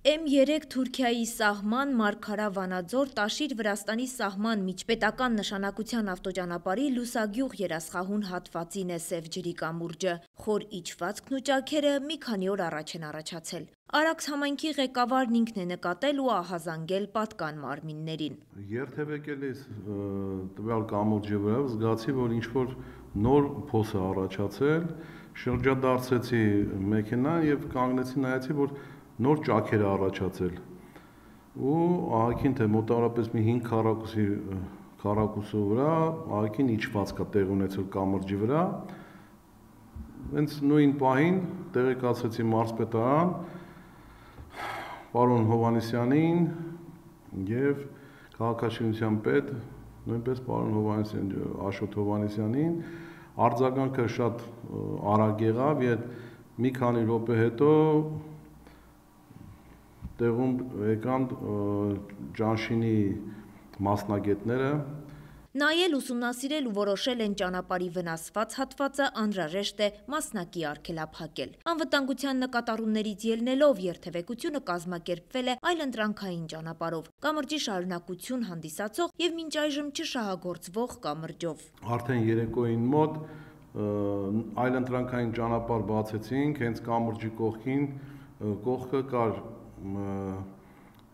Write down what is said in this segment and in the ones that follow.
M3 Թուրքիայի սահման, Մարգարա Վանաձոր, Տաշիր Վրաստանի սահման միջպետական նշանակության ավտոճանապարհի Լուսագյուղ երասխահուն հատվածին է սև ջրի կամուրջը։ Խոր իջվածքն ու ճաքերը մի քանի օր առաջ են առաջացել։ Արաքս համայնքի ղեկավարն ինքն է նկատել ու ահազանգել պատկան մարմիններին։ Երթևեկելիս տվյալ կամուրջի վրա զգացի, որ ինչ-որ նոր փոս է առաջացել, շրջադարձեցի մեքենան եւ կանգնեցի նայեցի, որ նոր ճաքեր է առաջացել ու ահագին թե մոտավորապես մի 5 քառակուսու վրա ահագին իջվածք է տեղ ունեցել կամրջի վրա։ Հենց նույն պահին տեղեկացրեցի մարզպետարան պարոն Հովհաննիսյանին եւ քաղաքաշինության պետ, նույնպես պարոն Աշոտ Հովհաննիսյանին, արձագանքը շատ արագ եղավ եւ մի քանի րոպե հետո տեղում եկան ճանշինի մասնագետները։ Նայել, ուսումնասիրել ու որոշել են ճանապարհի վնասված հատվածը անհրաժեշտ է մասնակի արգելափակել։ Անվտանգության նկատառումներից ելնելով երթևեկությունը կազմակերպվել է այլընտրանքային ճանապարհով, կամրջի շարունակություն հանդիսացող եւ մինչ այժմ չշահագործվող կամրջով։ Արդեն երեկոյին մոտ այլընտրանքային ճանապարհ բացեցինք, հենց կամրջի կողքը կար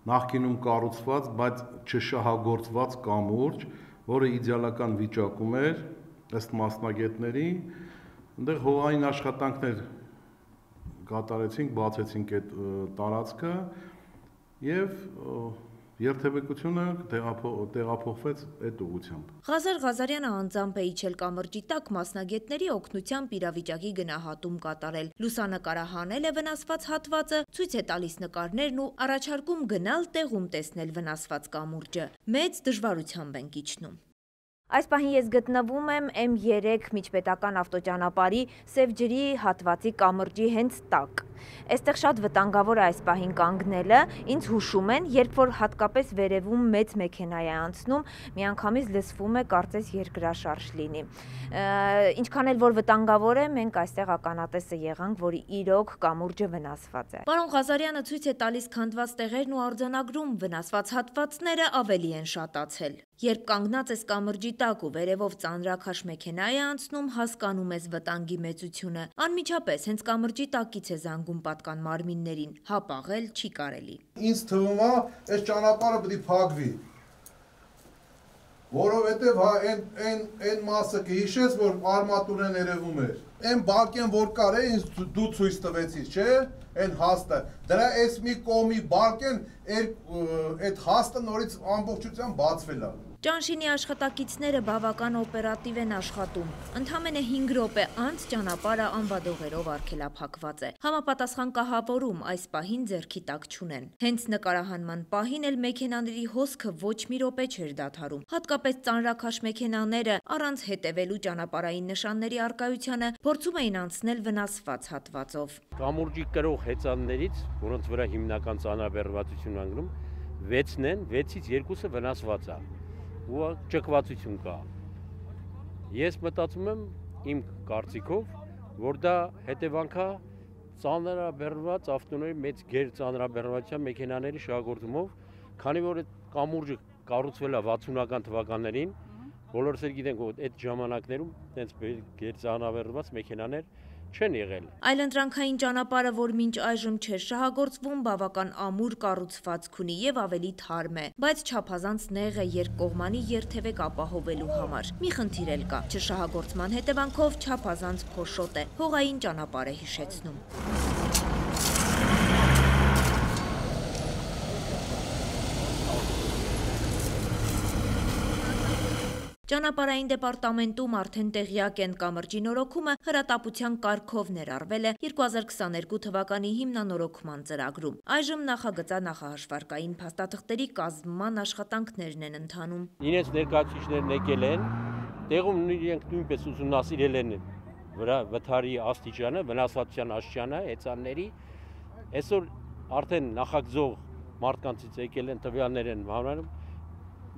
նախկինում կառուցված, բայց չշահագործված կամուրջ, որը իդեալական վիճակում էր ըստ մասնագետների, այնտեղ հողային աշխատանքներ կատարեցինք, բացեցինք այդ տարածքը եւ երթևեկությունը տեղափոխվեց այդ ուղղությամբ։ Ղազար Ղազարյանը անձամբ է իջել կամրջի տակ մասնագետների օգնությամբ իրավիճակի գնահատում կատարել։ Լուսանկարահանել է վնասված հատվածը, ցույց է տալիս նկարներն ու առաջարկում գնալ տեղում տեսնել վնասված կամուրջը։ Մեծ դժվարությամբ ենք իջնում։ Այս պահին ես գտնվում եմ M3 միջպետական ավտոճանապարհի սև ջրի հատվածի կամրջի հենց տակ։ Այստեղ շատ վտանգավոր է այս պահին կանգնելը, ինձ հուշում են, երբ որ հատկապես վերևում մեծ մեքենա է անցնում, միանգամից լսվում է կարծես երկրաշարժ լինի։ Ինչքան էլ որ վտանգավոր է, մենք այստեղ ականատեսը եղանք, որ իրոք կամուրջը վնասված է։ Պարոն Ղազարյանը ցույց է տալիս քանդված տեղերն ու արձանագրում, վնասված հատվածները ավելի են շատացել։ Երբ կանգնած ես կամրջի տակ ու վերևով ծանրաքաշ մեքենա է անցնում, հասկանում ես վտանգի մեծությունը։ Անմիջապես հենց կամրջի տակից է զանգում պատկան մարմիններին, հապաղել չի կարելի։ Ինձ թվում է, այս ճանապարհը պետք է փակվի, որովհետև այն մասը կհիշես, որ արմատուրեն երևում էր։ Այն բակեն որ կար է, ինձ դու ցույց տվեցիր, չէ՞, այն հաստը։ Դրա այս մի կողմի բակեն այդ հաստը նորից ամբողջությամբ բացվել է։ Ճանշինի աշխատակիցները բավական օպերատիվ են աշխատում։ Ընդամենը 5 րոպե անց ճանապարհը անվադողերով արգելափակված է։ Համապատասխան կահավորում այս պահին ձեռքի տակ չունեն։ Հենց նկարահանման պահին էլ մեքենաների հոսքը ոչ մի րոպե չէր դադարում։ Հատկապես ծանրաքաշ մեքենաները առանց հետևելու ճանապարհային նշանների առկայությանը փորձում էին անցնել վնասված հատվածով։ Կամուրջի կրող հեծաններից, որոնց վրա հիմնական ծանրաբեռնվածություն անգնում, 6-ն են, 6-ից 2-ը վնասված է։ Ու ճկվածություն կա։ Ես մտածում եմ իմ կարծիքով, որ դա հետևանքա ծանրաբեռնված ավտոների մեծ ծանրաբեռնվածության մեքենաների շահագործումով, քանի որ այդ կամուրջը կառուցվել է 60-ական թվականներին, բոլորս էլ գիտենք, որ այդ ժամանակներում այդպես ծանրաբեռնված մեքենաներ չեն եղել։ Այլընտրանքային ճանապարհը, որ մինչ այժմ չէր շահագործվում, բավական ամուր կառուցվածք ունի եւ ավելի թարմ է, բայց չափազանց նեղ է երկկողմանի երթևեք ապահովելու համար։ Մի խնդիր էլ կա, չշահագործման հետևանքով չափազանց փոշոտ է, հողային ճանապարհ է հիշեցնում։ Ճանապարհային դեպարտամենտում արդեն տեղյակ են կամրջի նորոգումը հրատապության կարգով ներառվել է 2022 թվականի հիմնանորոգման ծրագրում։ Այժմ նախագծած նախահաշվարկային փաստաթղթերի կազմման աշխատանքներն են ընթանում։ Իրենց ներկայացուցիչներն եկել են, տեղում իրենք նույնպես ուսումնասիրել են վթարի աստիճանը, վնասվածության աստիճանը, հեծանների։ Այսօր արդեն նախագծող մարդկանցից եկել են տվյալներ են հանրանում,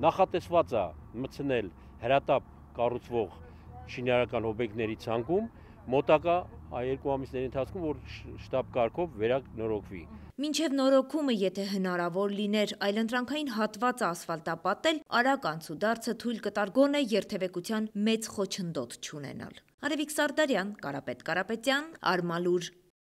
նախատեսված է մտցնել հրատապ կառուցվող շինարարական օբյեկտների ցանկում, մոտակա 2 ամիսների ընթացքում որ շտաբ կարգով վերանորոգվի։ Մինչև նորոգումը, եթե հնարավոր լիներ այլընտրանքային հատվածը ասֆալտապատել, արագ անցուդարձը թույլ կտար գոնե երթևեկության մեծ խոչընդոտ չունենալ։ Արևիկ Սարդարյան, Կարապետ Կարապետյան, Արմալուր,